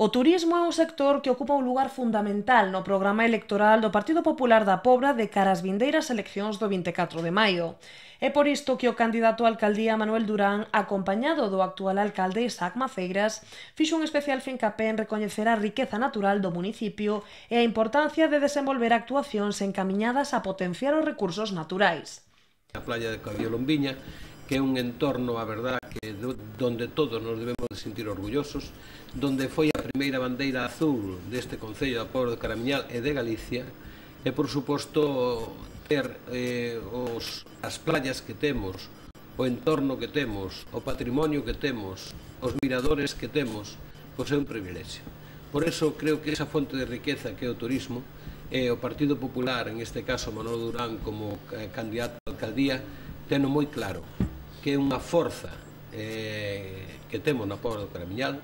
O turismo é un sector que ocupa un lugar fundamental no programa electoral do Partido Popular da Pobra de cara ás vindeiras eleccións do 24 de maio. É por isto que o candidato á alcaldía Manuel Durán, acompañado do actual alcalde Isaac Maceiras, fixo un especial fincapé en recoñecer a riqueza natural do municipio e a importancia de desenvolver actuacións encamiñadas a potenciar os recursos naturais. A playa de Cabiolombiña, que é un entorno, a verdad, que donde todos nos debemos de sentir orgullosos, donde foi a primeira bandeira azul deste Concello da Pobra de Caramiñal e de Galicia, e, por suposto, ter as playas que temos, o entorno que temos, o patrimonio que temos, os miradores que temos, pois é un privilexio. Por eso creo que esa fonte de riqueza que é o turismo, e o Partido Popular, en este caso Manuel Durán como candidato á alcaldía, teno moi claro que é unha forza que temos na Pobra do Caramiñal,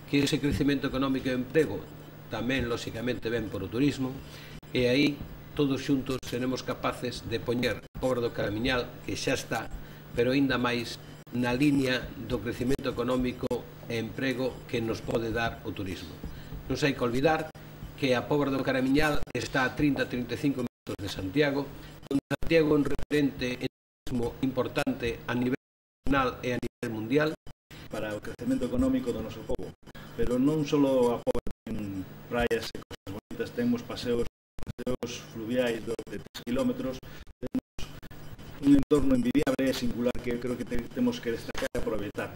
que ese crecemento económico e emprego tamén, lóxicamente, ven por o turismo, e aí todos xuntos seremos capaces de poñer a Pobra do Caramiñal, que xa está, pero aínda máis na liña do crecemento económico e emprego que nos pode dar o turismo. Non sei que olvidar que a Pobra do Caramiñal está a 30-35 minutos de Santiago, onde Santiago é un referente en turismo importante a nivel nacional e a nivel mundial para o crecemento económico do noso povo. Pero non só a Pobra ten praias e cosas bonitas, temos paseos fluviais de 3 km, temos un entorno envidiable e singular que creo que temos que destacar e aproveitar.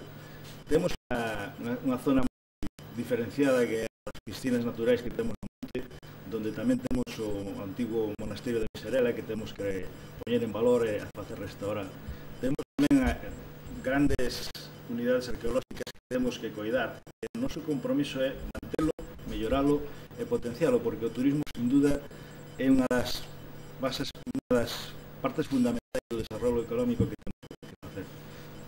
Temos unha zona diferenciada que é as piscinas naturais que temos no monte, donde tamén temos o antigo monasterio de Miserela que temos que poñer en valor e facer restaurar. Temos tamén grandes unidades arqueolóxicas que temos que coidar. O noso compromiso é mantelo, melloralo e potencialo, porque o turismo, sin duda, é unha das bases, unha das partes fundamentais do desarrollo económico que temos que facer.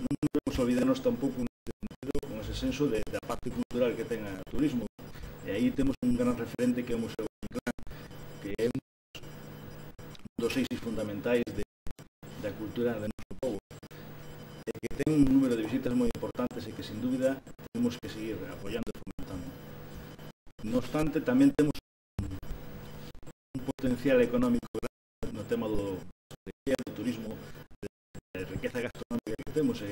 Non debemos olvidarnos tampouco con ese senso da parte cultural que ten o turismo. E aí temos un gran referente que é o Museo Inclán, que é un dos eixos fundamentais da cultura do noso povo, e que ten un número de visitas moi importantes e que, sin dúbida, temos que seguir apoiando e fomentando. No obstante, tamén temos un potencial económico grande no tema do turismo, de riqueza gastronómica que temos.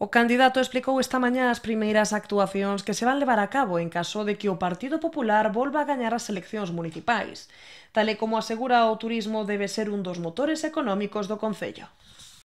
O candidato explicou esta mañá as primeiras actuacións que se van levar a cabo en caso de que o Partido Popular volva a gañar as eleccións municipais. Tal e como asegura, o turismo debe ser un dos motores económicos do concello.